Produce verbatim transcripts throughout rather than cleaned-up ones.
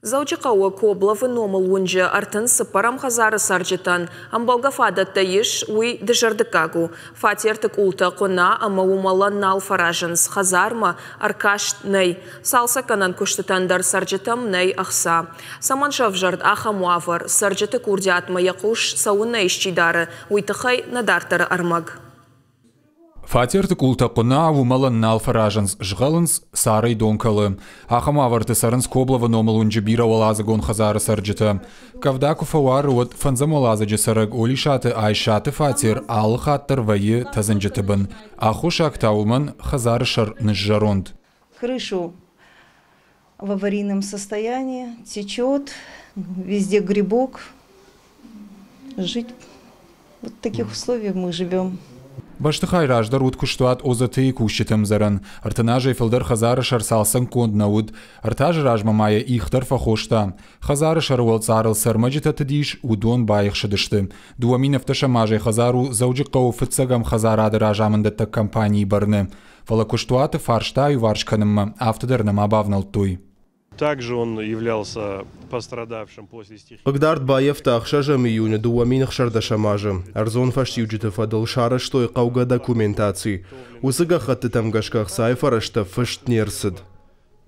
Дзӕуджыхъӕуы Кобловы номыл уынджы ӕртын цыппӕрӕм хӕдзары цӕрджытӕн ӕмбӕлгӕ фадӕттӕ ис, уый дызӕрдыггаг у. Фатерты къултӕ хъуына ӕмӕ уымӕлӕн нал фӕразынц, хӕдзармӕ ӕркаст нӕй. Цалцӕггӕнӕн куыстытӕн дӕр цӕрджытӕм нӕй ӕхца. Цӕмӕн сӕвзӕрд ахӕм уавӕр, цӕрджыты курдиатмӕ йӕ хъус цӕуыннӕ исчи дары, уый тыххӕй нӕ дарддӕры ӕрмӕг. Фатерты къултӕ хъуына, уымӕлӕн нал фӕразынц, згъӕлынц, царӕй дон кӕлы. Ахӕм уавӕрты цӕрынц Кобловы номыл уынджы бирӕуӕладзыгон хӕдзары цӕрджытӕ. Къӕвда куы фӕуары, уӕд фӕндзӕм уӕладзыджы цӕрӕг Олисаты Айсаты фатер алы хатт дӕр вӕййы тӕдзынджыты бын. Аххосаг та уымӕн хӕдзары сӕр ныззӕронд. Крышу в аварийном состоянии, течет, везде грибок. Жить вот в таких условиях мы живем. Бӕстыхай раздӕр уыд куыстуат ОЗТ-йы кусджыты ӕмдзӕрӕн. Ӕртын азӕй фылдӕр хӕдзары сӕр цалцӕггонд нӕ уыд. Ӕртӕ азы размӕ ма йӕ их дӕр фӕхоста. Хӕдзары сӕры уӕлцъарыл цы ӕрмӕджытӕ тыд ис, уыдон баихсыдысты. Дыууӕ мин ӕвддӕсӕм азӕй хӕдзар у Дзӕуджыхъӕуы фыццӕгӕм хӕдзарады разамындӕттӕг компанийы бӕрны. Фӕлӕ куыстуаты фарста аиуварс кӕнынмӕ афтӕ дӕр нӕма бавнӕлдтой. Также он являлся пострадавшим после стихии. Хъыгдард баййӕфта ӕхсӕзӕм июны дыууӕ мин ӕхсӕрдӕсӕм азы. Ӕрдзон фӕстиуджыты фӕдыл сарӕзтой хъӕугӕ документаци. Уыцы гӕххӕттытӕм гӕсгӕ ӕхцайы фӕрӕзтӕ фыст не рцыд.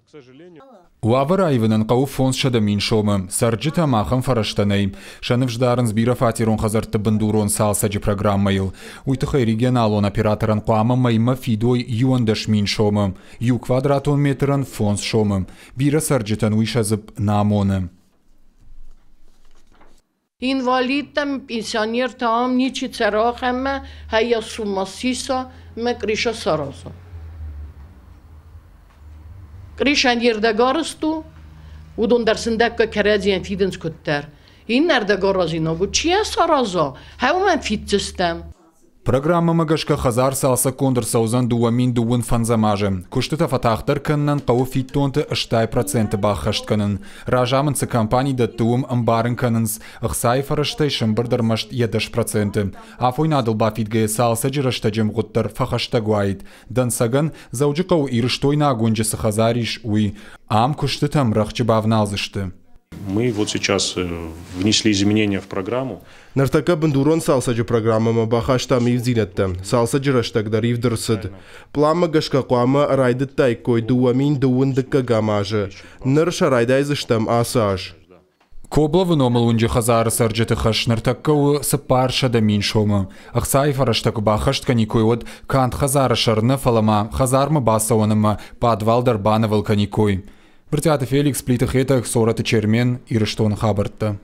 К сожалению, Уавӕр аивынӕн хъӕуы фондзсӕдӕ мин сомы. Цӕрджытӕм ахӕм фӕрӕзтӕ нӕй. Сӕ ныфс дарынц бирӕфатерон хӕдзӕртты бындурон цалцӕджы программӕйыл. Уый тыххӕй регионалон операторӕн хъуамӕ мӕймӕ фидой иуӕндӕс мин сомы. Иу квадратон метрӕн фондз сомы. Бирӕ цӕрджытӕн уый сӕ дзыпп нӕ амоны. Инвалидтӕ, пенсионертӕ ам ничи цӕры ахӕммӕ, хайа сумма сиса, мӕ крыша сараза. Крышӕн йе рдӕг арӕзт у, уыдон дӕр сындӕггай кӕрӕдзийӕн фидынц куыддӕр. Иннӕ ӕрдӕг аразинаг у, чи йӕ сараза, уымӕн фиддзыстӕм. Программӕмӕ гӕсгӕ хӕдзар цалцӕггонд ӕрцӕудзӕн дыууӕ мин дыууын фӕндзӕм азы. Куыстытӕ фӕтагъддӕр кӕнынӕн хъӕуы фиддонты ӕстай проценты баххӕст кӕнын. Разамынд цы компани дӕтты, уым ӕмбарын кӕнынц, ӕхцайы фӕрӕзтӕй сӕмбырд ӕрмӕст йӕ дӕс проценты. Афойнадыл бафидгӕйӕ цалцӕджы рӕстӕджы ӕмгъуыд дӕр фӕхӕстӕг уаид. Дӕнцӕгӕн, Дзӕуджыхъӕуы Ирыстойнаг уынджы цы хӕдзар ис, уый. Ам куыстытӕм рӕхджы бавналдзысты. Мы вот сейчас э, внесли изменения в программу. Ныртӕккӕ бындурон цалцӕджы программӕмӕ бахастам ивддзинӕдтӕ. Цалцӕджы рӕстӕг дӕр ивд ӕрцыд. Пъланмӕ гӕсгӕ хъуамӕ райдыдтаиккой дыууӕ мин дыууын дыккӕгӕм азы. Ныр сӕ райдайдзыстӕм ацы аз. Кобловы номыл уынджы хӕдзары цӕрджыты хӕс ныртӕккӕ у цыппарсӕдӕ мин сомы. Ӕхцайы фӕрӕзтӕ куы баххӕст кӕниккой, уӕд канд хӕдзары сӕр нӕ, фӕлӕ ма хӕдзармӕ бацӕуӕн ӕмӕ пъадвал дӕр банывыл кӕниккой. Брытъиаты Феликс, Плиты Хетӕг, Цорӕты Чермен, Ирыстоны хабӕрттӕ.